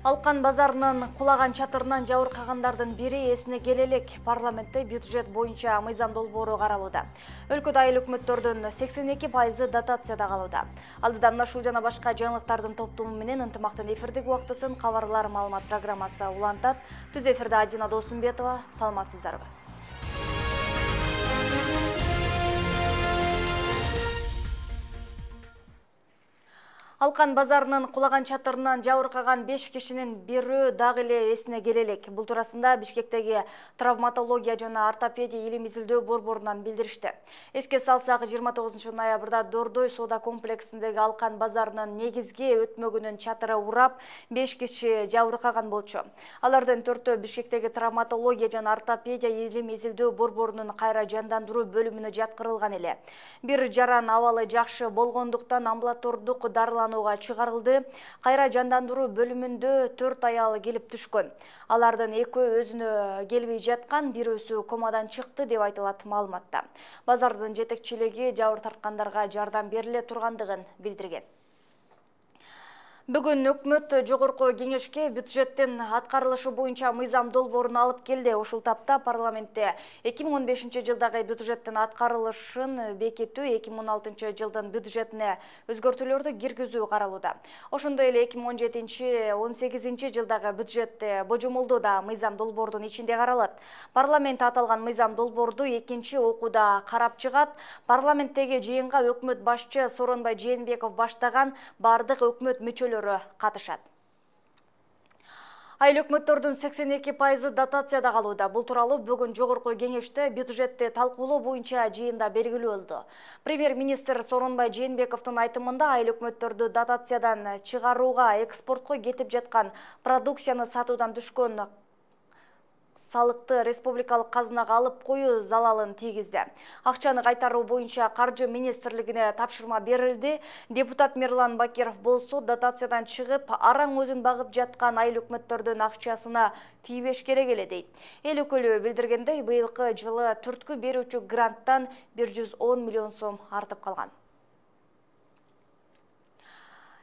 Алкан базарынын кулаган чатырынан жабыркагандардын бири эсине келе элек. Парламентте бюджет боюнча мыйзам долбоору каралууда. Өлкөдө айыл өкмөттөрдүн 82% дотацияда калууда. Алдыдан ушул жана башка жаңылыктардын топтому менен ынтымактын эфирдик убактысын кабарлар маалымат программасы улантат. Түз эфирде Адина Досумбетова. Саламатсыздарбы? Алкан базарынын кулаган чатырынан жабыркаган 5 кишинин бирөө дагы эле эсине келе элек. Бул туурасында Бишкектеги травматология жана ортопедия илим изилдөө борборунан билдиришти. Эске салсак, 29 ноябрда Дордой соода комплексиндеги Алкан базарынын негизги өтмөгүнүн чатыры урап, 5 киши жабыркаган болчу. Алардын 4-өө Бишкектеги травматология жана ортопедия илим изилдөө борборунун кайра жандандыруу бөлүмүнө жаткырылган эле. Бир жаран абалы жакшы болгондуктан амбулатордук дарыланууга чыгарылды. Кайра жандандыруу бөлүмүндө 4 аял келип түшкөн. Алардын экөө өзүнө келбей жаткан, бирөөсү комадан чыкты деп айтылат маалыматта. Базардын жетекчилиги жабыр тарткандарга жардам бериле тургандыгын билдирген. Бүгүн өкмөт жогорку кеңешке бюджеттин аткарылышы боюнча мыйзам долбоорун алып келди. Ушул тапта парламентте 2015 жылдагы бюджеттин аткарылышын бекитүү, 2016 жылдын бюджетине өзгөртүүлөрдү киргизүү каралууда. Ошондой эле 2017-18 жылдагы бюджетте божомолдоо да мыйзам долбоордун ичинде каралат. Парламент аталган мыйзам долбоорду экинчи окууда карап чыгат. Парламенттеги жыйынга өкмөт башчы Сооронбай Жээнбеков баштаган бардык өкмөт мүчөлөрү катышат. Айыл өкмөттөрдүн 82% дотацияда калууда. Бул тууралуу бүгүн жогорку кеңеште бюджетти талкуулоо боюнча жыйында белгилүү болду. Премьер-министр Сооронбай Жээнбековдун айтымында айыл өкмөттөрдү дотациядан чыгарууга, экспортко кетип жаткан продукцияны сатуудан түшкөн салыкты республикалык казынага алып коюу залалын тийгизди. Акчаны кайтаруу боюнча Каржы министрлигине тапшырма берилди. Депутат Мирлан Бакиров болсо дотациядан чыгып, араң өзүн багып жаткан айыл өкмөттөрдүн акчасына тийбеш керек эле дейт. Эл өкүлү билдиргендей, быйылкы жылы түрткү берүүчү гранттан 110 миллион сом артып калган.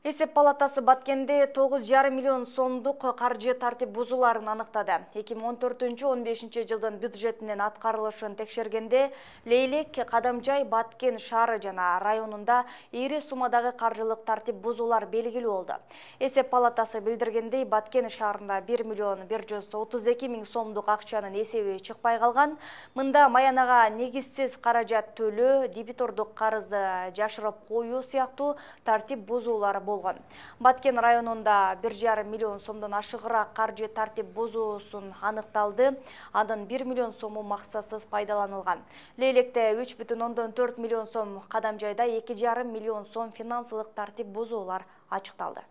Эсеп палатасы Баткенде 9,5 миллион сомдук каржы тартип бузууларын аныктады. 2014-15 жылдын бюджетинин аткарылышын текшергенде Лейлек, Кадамжай, Баткен шаары жана районунда ири суммадагы каржылык тартип бузуулар белгилүү болду. Эсеп палатасы билдиргендей, Баткен шаарында 1 миллион 132 миң сомдук акчанын эсеби чыкпай калган. Мында маянага негизсиз каражат төлөө, дебитордук карызды жашырып коюу сыяктуу тартип бузуулар болгон. Баткен районунда 1,5 миллион сомдон ашыгыраак каржы тартип бузуусун аныкталды. Анын 1 миллион сому максатсыз пайдаланылган. Лейлекте 3,4 миллион сом, Кадамжайда 2,5 миллион сом финансылык тартип бузуулар ачыкталды.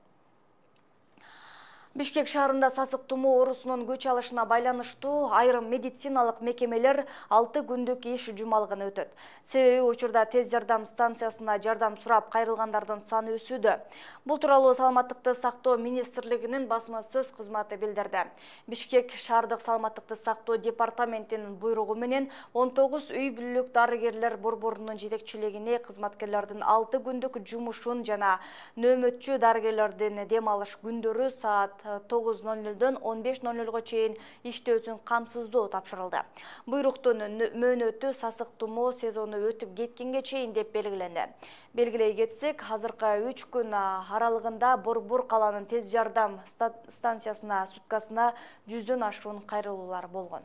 Бишкек шаарында сасык тумоо оорусунун күч алышына байланыштуу айрым медициналык мекемелер 6 күндүк иш жумалыгын өтөт. Себеби учурда тез жардам станциясына жардам сурап кайрылгандардын саны өсүүдө. Бул тууралуу Саламаттыкты сактоо министрлигинин басма сөз кызматы билдирди. Бишкек шаардык саламаттыкты сактоо департаментинин буйругу менен 19 үй бүлөлүк дарыгерлер борборунун жетекчилигине кызматкерлердин 6 күндүк жумушун жана нөөмөтчү дарыгерлердин дем алыш күндөрү саат 9:00-дөн 15:00-га чейин иштөөсүн камсыздоо тапшырылды. Буйруктун мөөнөтү сасык тумоо сезону өтүп кеткенге чейин деп белгиленди. Белгилей кетсек, азыркы 3 күн аралыгында Борбор каланын тез жардам станциясына суткасына 100дөн ашуун кайрылуулар болгон.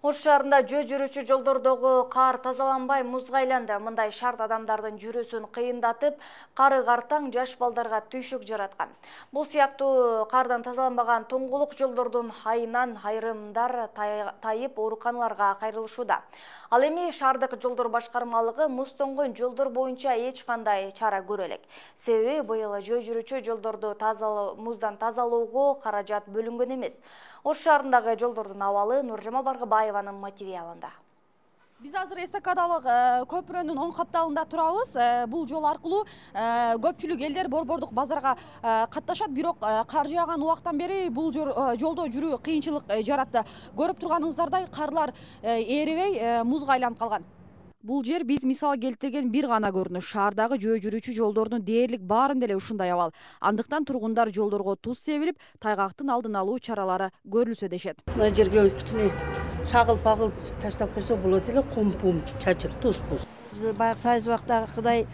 Ош шаарында жөө жүрүүчү жолдордогу кар тазаланбай музга айланды. Мындай шарт адамдардын жүрүүсүн кыйындатып, кары картаң жаш балдарга түйшүк жараткан. Бул сыяктуу кардан тазаланбаган тоңголук жолдордун айынан айрымдар тайып ооруканаларга кайрылышууда. Ал эми шаардык жолдор башкармалыгы муз тоңгон жолдор боюнча эч кандай чара көрө элек. Себеби быйыл жөө жүрүүчү жолдорду муздан тазалоого каражат бөлүнгөн эмес. Ош шаарындагы жолдордун абалы Нуржамал Баргыбаеванын материалында. Биз азыр эстакадалык көпүрөнүн оң капталында турабыз. Бул жол аркылуу көпчүлүк элдер борбордук базарга катташат, бирок кар жааган убактан бери бул жолдо жүрүү кыйынчылык жаратты. Көрүп турганыңыздардай карлар эрибей музга айланып калган. Бул жер биз мисал келтирген бир гана көрүнүш. Шаардагы жөө жүрүүчү жолдордун дээрлик баарында эле ушундай абал. Андыктан тургундар жолдорго туз себилип, тайгактын алдын алуу чаралары көрүлсө дешет. Мына жерге кичине шагыл-пагыл таштап койсо болот эле, кум чачып, туз-пуз. Баягы сайыз убактагыдай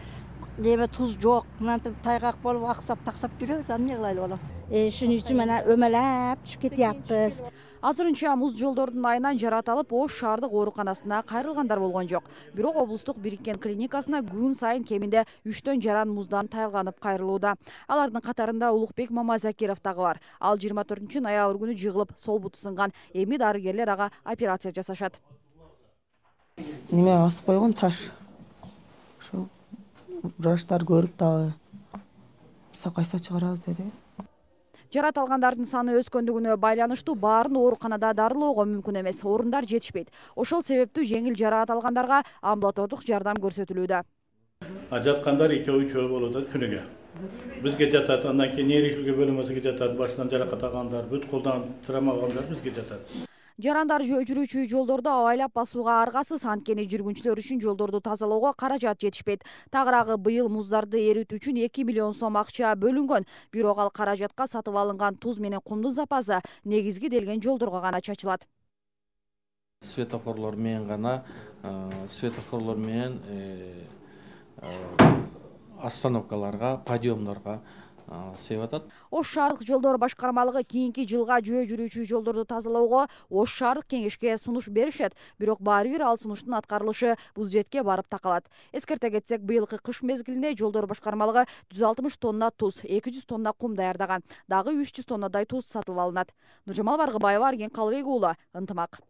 неме туз жок. Мынантип тайгак болуп аксап-таксап жүрөбүз, аны эмне кылайлы болом? Шуның үчүн мына өмөлөп түшүп кетиптиз. Азырынча муз жолдордун айынан жаратылып, Ош шаардык ооруканасына кайрылгандар болгон жок. Бирок облустук бириккен клиникасына күн сайын кеминде 3төн жаран муздан тайылганып кайрылууда. Алардын катарында Улукбек Мамазакиров дагы бар. Ал 24-ноябрь күнү жыгылып, сол буту сынган. Эми дарыгерлер ага операция жасашат. Неме асып койгон таш. Ошо врачтар көрүп дагы сакайса чыгарабыз деди. Жарат алгандардын саны өскөндүгүнө байланыштуу баарын ооруканада дарылоого мүмкүн эмес, орундар жетишпейт. Ошол себептүү жеңил жараат алгандарга амбулатордук жардам көрсөтүлүүдө. Жаткандар 2-3 болот күнүгө. Бизге жатат, андан кийин нейрохирургия бөлмөсүгө жатат, башынан жаракат алгандар, бүт колдон травма алгандар бизге жатат. Жарандар жөө жүрүүчү жолдорду абайлап басууга аргасыз, анткени жүргүнчүлөр үчүн жолдорду тазалоого каражат жетишпейт. Тагыраагы быйыл муздарды эритүү үчүн 2 миллион сом акча бөлүнгөн. Бирок ал каражатка сатып алынган туз менен кумдун запасы негизги делген жолдорго гана чачылат. Светофорлор менен гана, остановкаларга, подъемдорго себеп атат. Ош шаардык жолдор башкармалыгы кийинки жылга жөө жүрүүчү жолдорду тазалоого Ош шаардык кеңешке сунуш беришет, бирок баары бир ал сунуштун аткарылышы бул жетке барып такалат. Эскерте кетсек, быйылкы кыш мезгилинде жолдор башкармалыгы 160 тонна туз, 200 тонна кум даярдаган. Дагы 300 тоннадай туз сатып алынат. Нуржамал Баргыбаева, Арген Калыбек уулу, Ынтымак.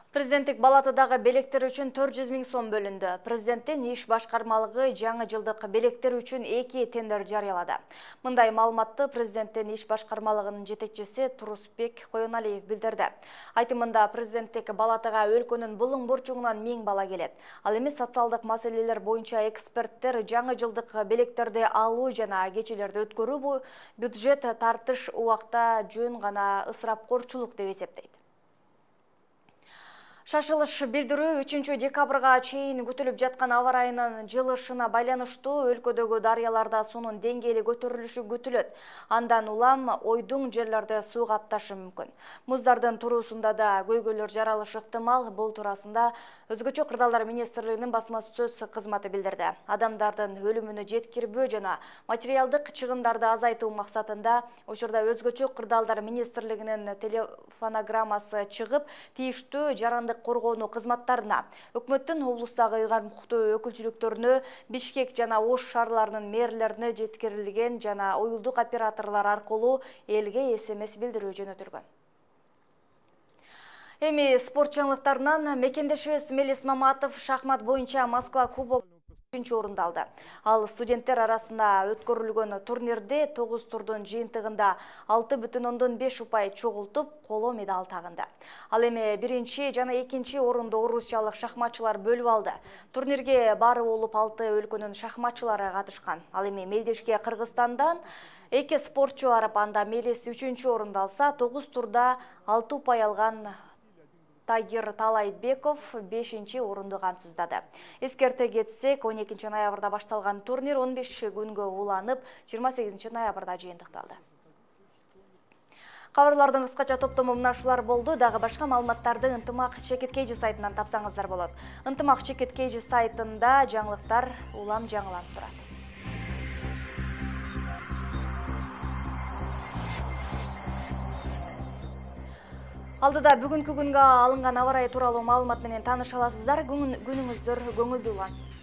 Президенттик балатыдагы белектер үчүн 400 000 сом бөлүндү. Президенттин иш башкармалыгы жаңы жылдык белектер үчүн 2 тендер жарыялады. Мындай маалыматты президенттин иш башкармалыгынын жетекчиси Турусбек Коеналиев билдирди. Айтымында президенттик балатыга өлкөнүн булуң бурчугунан 1000 бала келет. Ал эми социалдык маселелер боюнча эксперттер жаңы жылдык белектерди алуу жана кечелерди өткөрүү бюджет тартыш убакта жөн гана ысырапкорчулук деп эсептейт. Шашылыш билдирүү 3 декабрга чейин күтүлүп жаткан аба ырайынын жылышына байланыштуу өлкөдөгү дарыяларда суунун деңгээли көтөрүлүшү күтүлөт. Андан улам ойдуң жерлерде суу капташы мүмкүн. Муздардын туруусунда да көйгөйлөр жаралышы ыктымал. Бул туурасында Өзгөчө кырдаалдар министрлигинин басма сөз кызматы билдирди. Адамдардын өлүмүнө жеткирбөө жана материалдык чыгымдарды азайтуу максатында учурда Өзгөчө кырдаалдар министрлигинин телефонограммасы чыгып, тийиштүү жарандык коргоону кызматтарына, өкмөттүн облустагы ыйгарым укуктуу өкүлчүлүктөрүнө, Бишкек жана Ош шаарларынын мэрлерине жеткирилген жана уюлдук операторлор аркылуу элге СМС билдирүү жөнөтүлгөн. Эми спорт жаңылыктарынан мекендешибиз Мелис Маматов шахмат боюнча Москва кубок 3-чү орунду алды. Ал студенттер арасында өткөрүлгөн турнирде 9 турдун жыйынтыгында 6,5 упай чогултуп, коло медаль тагынды. Ал эми биринчи жана экинчи орунду орусиялык шахматчылар бөлүп алды. Турнирге баары болуп 6 өлкөнүн шахматчылары катышкан. Ал эми мелдешке Кыргызстандан 2 спортчу барып, анда Мелис 3-чү орунду алса, 9 турда 6 упай алган Тагир Талайбеков 5-чи орунду камсыздады. Эскерте кетсек, 12 ноябрда башталган турнир 15 күнгө уланып, 28 ноябрда жыйынтыкталды. Кабарлардын кыскача топтому мына ушулар болду. Дагы башка маалыматтарды Ынтымак Чекиткейжи сайтынан тапсаңыздар болот. Ынтымак Чекиткейжи сайтында жаңылыктар улам жаңыланып турат. Алдыда бүгүнкү күнгө алынган аба ырайы тууралуу маалымат менен тааныша аласыздар. Күнүңүздөр көңүлдүү улансын.